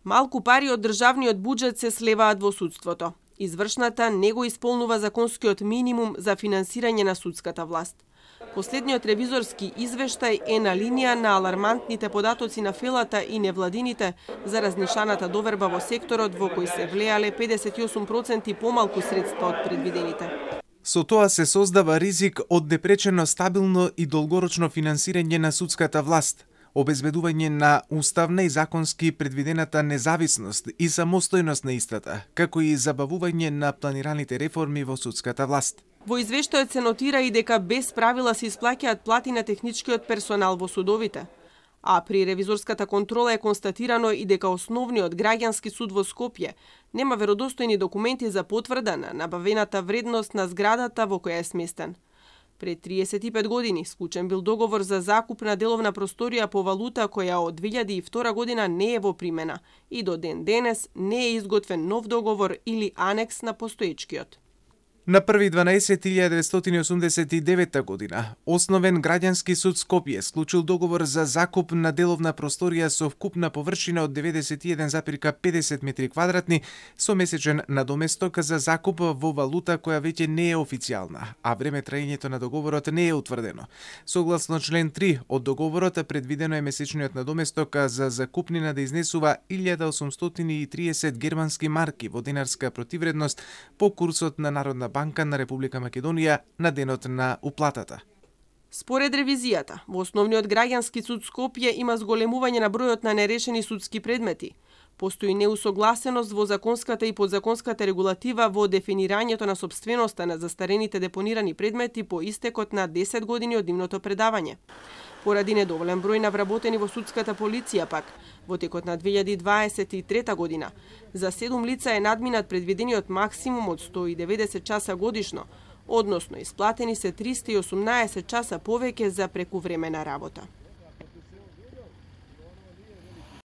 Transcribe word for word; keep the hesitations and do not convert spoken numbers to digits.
Малку пари од државниот буџет се слеваат во судството. Извршната не го исполнува законскиот минимум за финансирање на судската власт. Последниот ревизорски извештај е на линија на алармантните податоци на фелата и невладините за разнишаната доверба во секторот во кој се влеале педесет и осум проценти помалку средства од предвидените. Со тоа се создава ризик од непречено стабилно и долгорочно финансирање на судската власт, обезбедување на уставна и законски предвидената независност и самостојност на истата, како и забавување на планираните реформи во судската власт. Во извештајот се нотира и дека без правила се исплаќаат плати на техничкиот персонал во судовите. А при ревизорската контрола е констатирано и дека основниот граѓански суд во Скопје нема веродостојни документи за потврда на набавената вредност на зградата во која е сместен. Пред триесет и пет години склучен бил договор за закуп на деловна просторија по валута која од две илјади и втора година не е во примена и до ден денес не е изготвен нов договор или анекс на постоечкиот. На први дванаесети илјада деветстотини осумдесет и девета година, основен граѓански суд Скопје склучил договор за закуп на деловна просторија со вкупна површина од деветдесет и еден запир педесет метри квадратни со месечен надоместок за закуп во валута која веќе не е официјална, а време траењето на договорот не е утврдено. Согласно член три од договорот предвидено е месечниот надоместок за закупнина да изнесува илјада осумстотини и триесет германски марки во динарска противредност по курсот на Народна банка на Република Македонија на денот на уплатата. Според ревизијата, во основниот граѓански суд Скопје има зголемување на бројот на нерешени судски предмети. Постои неусогласеност во законската и подзаконската регулатива во дефинирањето на сопственоста на застарените депонирани предмети по истекот на десет години од нивното предавање. Поради недоволен број на вработени во судската полиција пак, во текот на две илјади дваесет и трета година, за седум лица е надминат предвидениот максимум од сто и деветдесет часа годишно, односно исплатени се триста и осумнаесет часа повеќе за прекувремена работа.